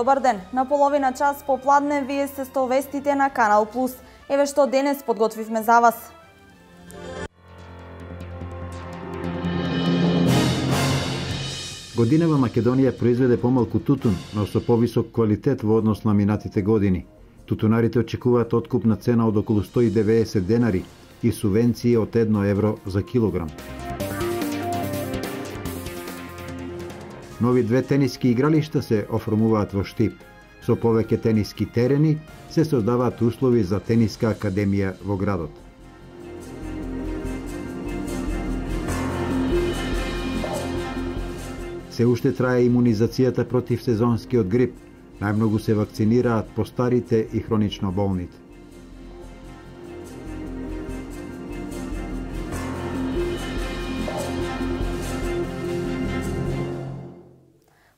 добар ден. На половина час попладне вие се со вестите на Канал Плюс. Еве што денес подготвивме за вас. Годинава Македонија произведе помалку тутун, но со повисок квалитет во однос на минатите години. Тутунарите очекуваат откупна цена од околу 190 денари и субвенции од 1 евро за килограм. Нови 2 тениски игралишта се оформуваат во Штип. Со повеќе тениски терени се создаваат услови за тениска академија во градот. Се уште трае имунизацијата против сезонскиот грип. Најмногу се вакцинираат постарите и хронично болните.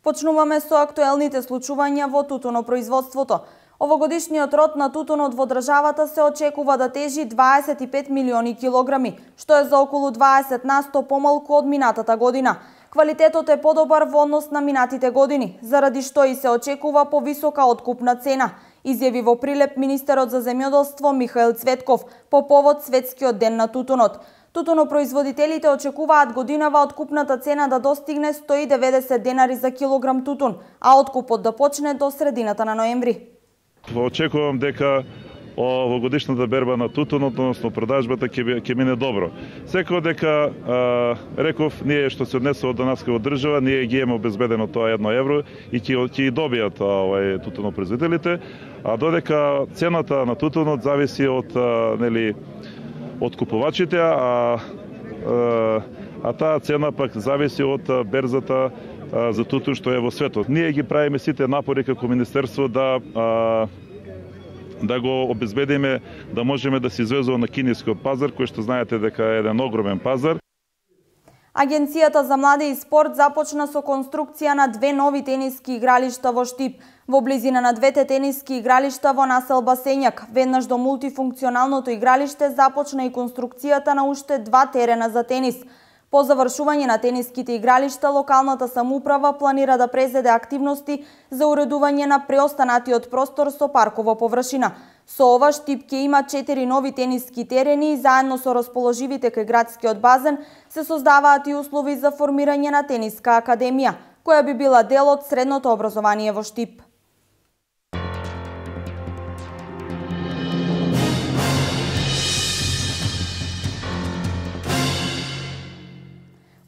Почнуваме со актуелните случувања во тутунопроизводството. Овогодишниот род на тутунот во државата се очекува да тежи 25 милиони килограми, што е за околу 20% помалку од минатата година. Квалитетот е подобар во однос на минатите години, заради што и се очекува повисока откупна цена, изјави во прилеп министерот за земјоделство Михаил Цветков по повод Светскиот ден на тутунот. Тутунопроизводителите очекуваат годинава откупната цена да достигне 190 денари за килограм тутун, а откупот да почне до средината на ноември. Очекувам дека овогодишната берба на тутунот, односно продажбата ќе мине добро. Секако дека реков, ние што се однесува до нас како држава, ние ги имаме обезбедено тоа 1 евро и ќе добијат тутунопроизводителите, а додека цената на тутунот зависи од купувачите, а таа цена пак зависи од берзата за тутун што е во светот. Ние ги правиме сите напори како министерство да го обезбедиме да можеме да се извезува на кинескиот пазар, кој што знаете дека е еден огромен пазар. Агенцијата за млади и спорт започна со конструкција на 2 нови тениски игралишта во Штип. Во близина на 2 тениски игралишта во населба Сењак, веднаш до мултифункционалното игралиште започна и конструкцијата на уште 2 терена за тенис. По завршување на тениските игралишта, локалната самоуправа планира да презеде активности за уредување на преостанатиот простор со паркова површина. Со ова Штип ќе има 4 нови тениски терени и заедно со расположивите кај градскиот базен се создаваат и услови за формирање на тениска академија, која би била дел од средното образование во Штип.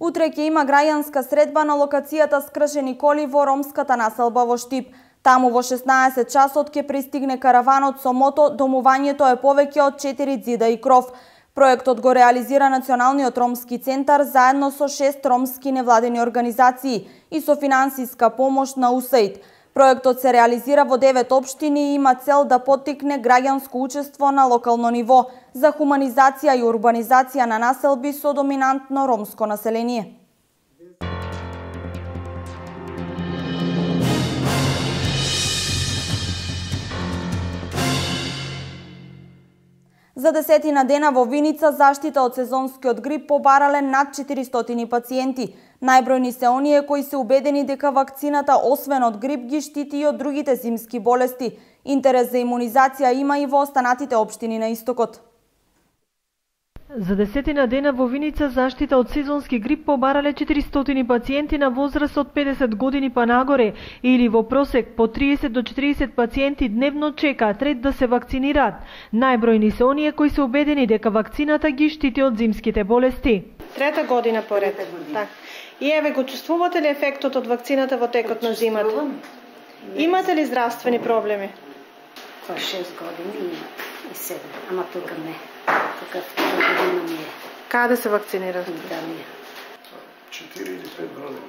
Утре ќе има граѓанска средба на локацијата скршени коли во ромската населба во Штип. Таму во 16 часот ќе пристигне караванот со мото, домувањето е повеќе од 4 ѕида и кров. Проектот го реализира Националниот ромски центар заедно со 6 ромски невладени организации и со финансиска помош на УСАИД. Проектот се реализира во 9 општини и има цел да поттикне граѓанско учество на локално ниво за хуманизација и урбанизација на населби со доминантно ромско население. За 10 дена во Виница заштита од сезонскиот грип побарале над 400 пациенти. Најбројни се оние кои се убедени дека вакцината освен од грип ги штити и од другите зимски болести. Интерес за имунизација има и во останатите општини на истокот. За 10 дена во Виница заштита од сезонски грип побарале 400 пациенти на возраст од 50 години па нагоре, или во просек по 30 до 40 пациенти дневно чекаат ред да се вакцинираат. Најбројни се оние кои се убедени дека вакцината ги штити од зимските болести. Трета година поред. Так. И еве го чувствувате ли ефектот од вакцината во текот на зимата? Имате ли здравствени проблеми? 6 години и 7, ама тука не. Тука година ми е. Каде се вакцинирате? Да, ми е. 4 или 5 години.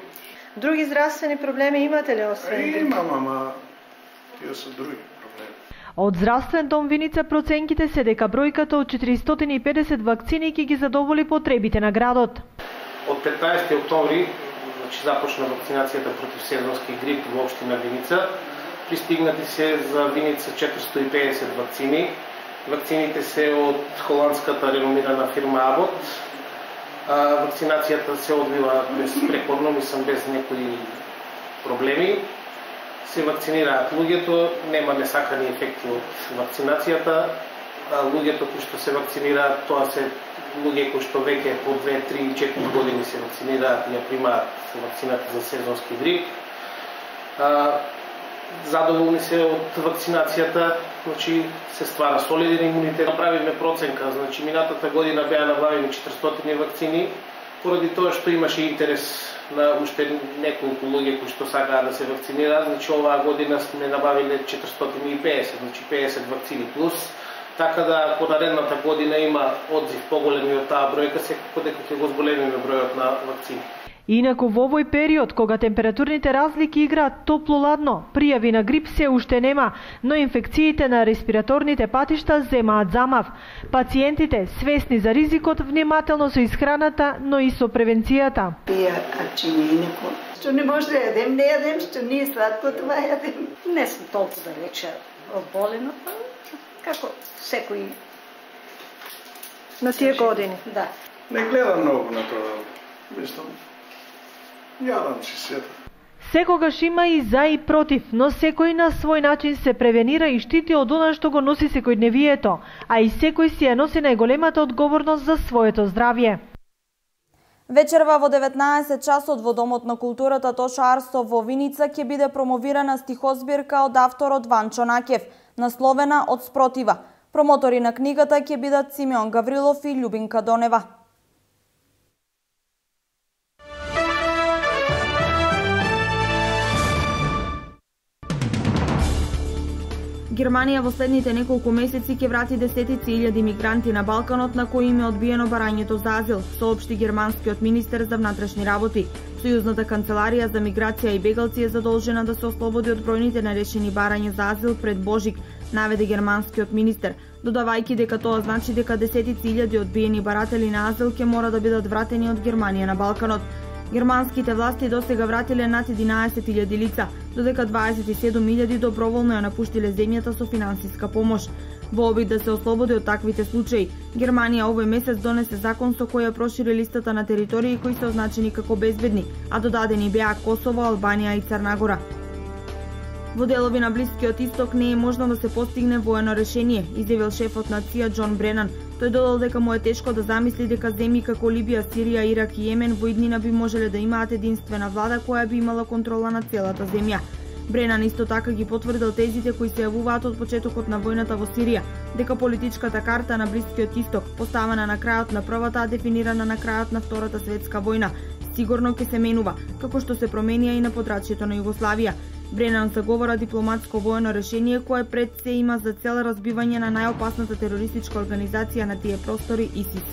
Други здравствени проблеми имате ли освен? Имам, ама тие се други проблеми. Од Здравствен дом Виница проценките се дека бројката од 450 вакцини ќе ги задоволи потребите на градот. Од 15 октомври започна вакцинацијата против сезонски грип во општина Виница. Пристигнати се за Виница 450 вакцини. Вакцините се од холандската реномирана фирма Абот. Вакцинацијата се одвива безпрекорно, мислам без некои проблеми. се вакцинираат луѓето, нема несакани ефекти од вакцинацијата. Луѓето кои што се вакцинираат, тоа се луѓе кои што веќе по 2, 3, 4 години се вакцинираат и ја примаат вакцината за сезонски грип. Задоволни се од вакцинацијата, значи се ствара солиден имунитет. Направиме проценка, значи минатата година беа набавени 400 вакцини, поради тоа што имаше интерес на уште неколку луѓе кои што сакаат да се вакцинираат, значи оваа година сме набавиле 450, значи 50 вакцини плюс. Така да, ако наредната година има одзив поголеми од таа бројка, секако дека ќе го зголемиме бројот на вакцини. Инаку во овој период, кога температурните разлики играат топло-ладно, пријави на грип се уште нема, но инфекциите на респираторните патишта земаат замав. Пациентите, свесни за ризикот, внимателно со исхраната, но и со превенцијата. Што не може да јадем, не јадем, што не е сладко, това јадем. Не сум толку далече оболена, како секој на тие години. Да. Не гледам многу на тоа. Мислам, јадам си се. Секогаш има и за и против, но секој на свој начин се превенира и штити од она што го носи секојдневието, а и секој си ја носи најголемата одговорност за своето здравје. Вечерва во 19 часот во Домот на културата Тоша Арсов во Виница ќе биде промовирана стихозбирка од авторот Ванчо Накев, насловена Од спротива. Промотори на книгата ќе бидат Симеон Гаврилов и Љубинка Донева. Германија во следните неколку месеци ќе врати десетици илјади мигранти на Балканот на кои им е одбиено барањето за азил, соопшти германскиот министер за внатрешни работи. Сојузната канцеларија за миграција и бегалци е задолжена да се ослободи од бројните нерешени барања за азил пред Божик, наведе германскиот министер, додавајќи дека тоа значи дека десетици илјади одбиени баратели на азил ќе мора да бидат вратени од Германија на Балканот. Германските власти досега вратиле над 11.000 лица, додека 27.000 доброволно ја напуштиле земјата со финансиска помош. Во обид да се ослободи од таквите случаи, Германија овој месец донесе закон со кој ја прошири листата на територии кои се означени како безбедни, а додадени беа Косово, Албанија и Црнагора. Во делови на Блискиот Исток не е можно да се постигне воено решение, изјавил шефот на ЦИА Џон Бренан. Тој додал дека му е тешко да замисли дека земји како Либија, Сирија, Ирак и Јемен во иднина би можеле да имаат единствена влада која би имала контрола на целата земја. Бренан исто така ги потврдил тезите кои се јавуваат од почетокот на војната во Сирија, дека политичката карта на Блискиот Исток, поставена на крајот на првата, а дефинирана на крајот на Втората светска војна, сигурно ќе се менува, како што се променија и на подрачјето на Југославија. Бренан заговора дипломатско воено решение кое пред се има за цел разбивање на најопасната терористичка организација на тие простори ИСИС.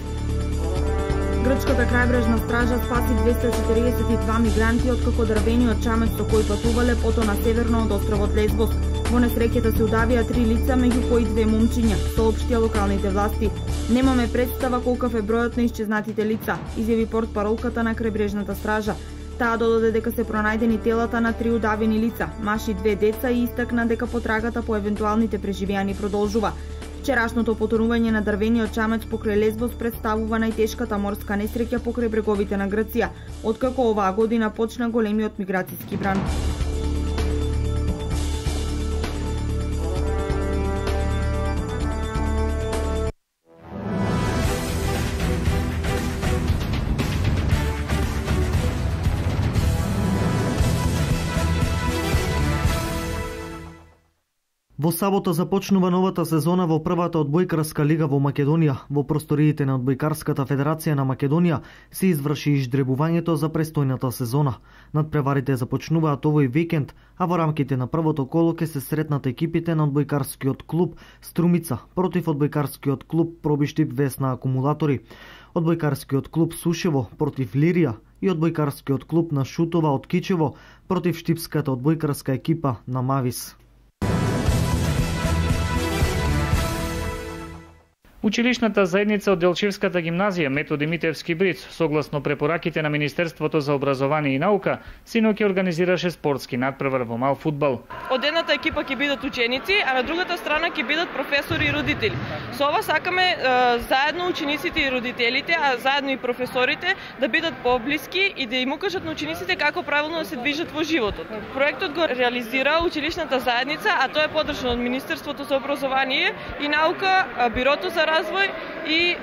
Грчката крајбрежна стража спаси 242 мигранти откако дрвениот чамец со кој патувале потона северно од островот Лесбос. Во несреќата се удавија 3 лица, меѓу кои 2 момчиња, соопштија локалните власти. Немаме представа колкав е бројот на исчезнатите лица, изјави портпаролката на крајбрежната стража. Таа додаде дека се пронајдени телата на 3 удавени лица, маш и 2 деца и истакна дека потрагата по евентуалните преживеани продолжува. Вчерашното потонување на дрвениот чамец покрај Лесбос представува најтешката морска несреќа покрај бреговите на Грција, откако оваа година почна големиот миграцијски бран. Во сабота започнува новата сезона во првата одбојкарска лига во Македонија. Во просториите на Одбојкарската федерација на Македонија се изврши изждребувањето за престојната сезона. Надпреварите започнуваат овој викенд, а во рамките на првото коло ќе се сретнат екипите на Одбојкарскиот клуб Струмица против Одбојкарскиот клуб Пробиштип Весна Акумулатори, Одбојкарскиот клуб Сушево против Лирија и Одбојкарскиот клуб на Шутова од Кичево против штипската одбојкарска екипа на Мавис. Училишната заедница од Делчевската гимназија Методи Митевски Бриц, согласно препораките на Министерството за образование и наука, синоќ организираше спортски надпревар во мал фудбал. Од едната екипа ќе бидат ученици, а на другата страна ќе бидат професори и родители. Со ова сакаме заедно учениците и родителите, а заедно и професорите да бидат поблиски и да им укажат на учениците како правилно да се движат во животот. Проектот го реализира училишната заедница, а тоа е подржано од Министерството за образование и наука, Бирото за развој и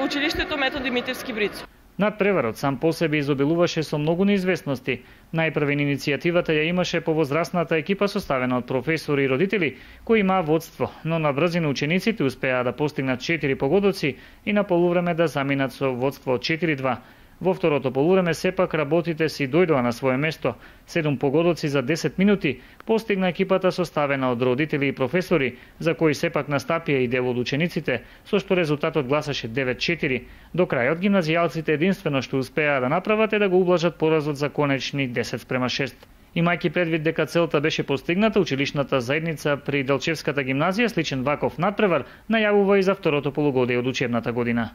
училиштето Методи Митевски Бриц. Надпреварот сам по себе изобилуваше со многу неизвестности. Најпрвен иницијативата ја имаше повозрастната екипа составена од професори и родители кои имаа водство, но на брзина учениците успеа да постигнат 4 погодоци и на полувреме да заминат со водство од 4-2. Во второто полувреме сепак работите си дојдоа на свое место. 7 погодоци за 10 минути постигна екипата составена од родители и професори, за кои сепак настапија и дел од учениците, со што резултатот гласаше 9-4. До крајот гимназијалците единствено што успеа да направат е да го ублажат поразот за конечни 10-6. Имајќи предвид дека целта беше постигната, училишната заедница при Делчевската гимназија сличен ваков надпревар најавува и за второто полугодие од учебната година.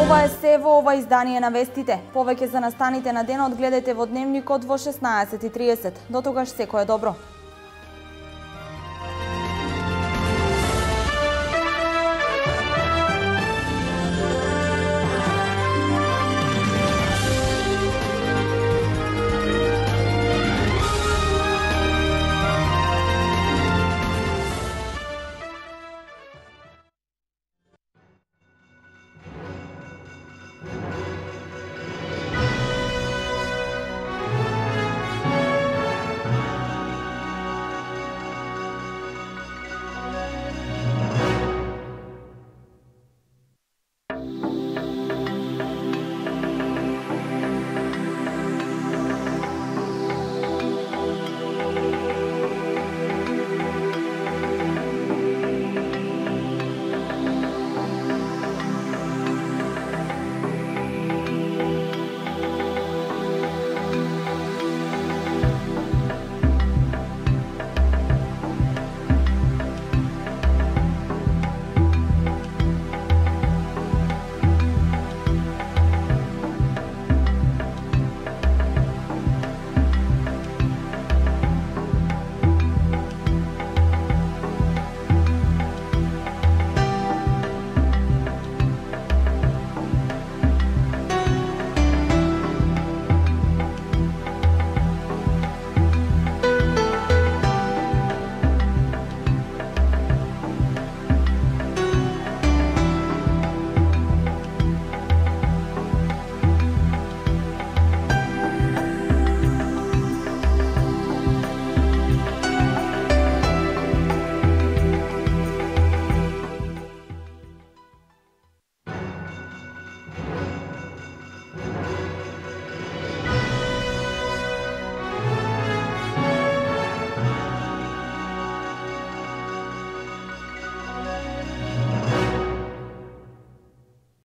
Ова е се во ова издание на вестите. Повеќе за настаните на денот гледате во Дневникот во 16:30. До тогаш секое добро.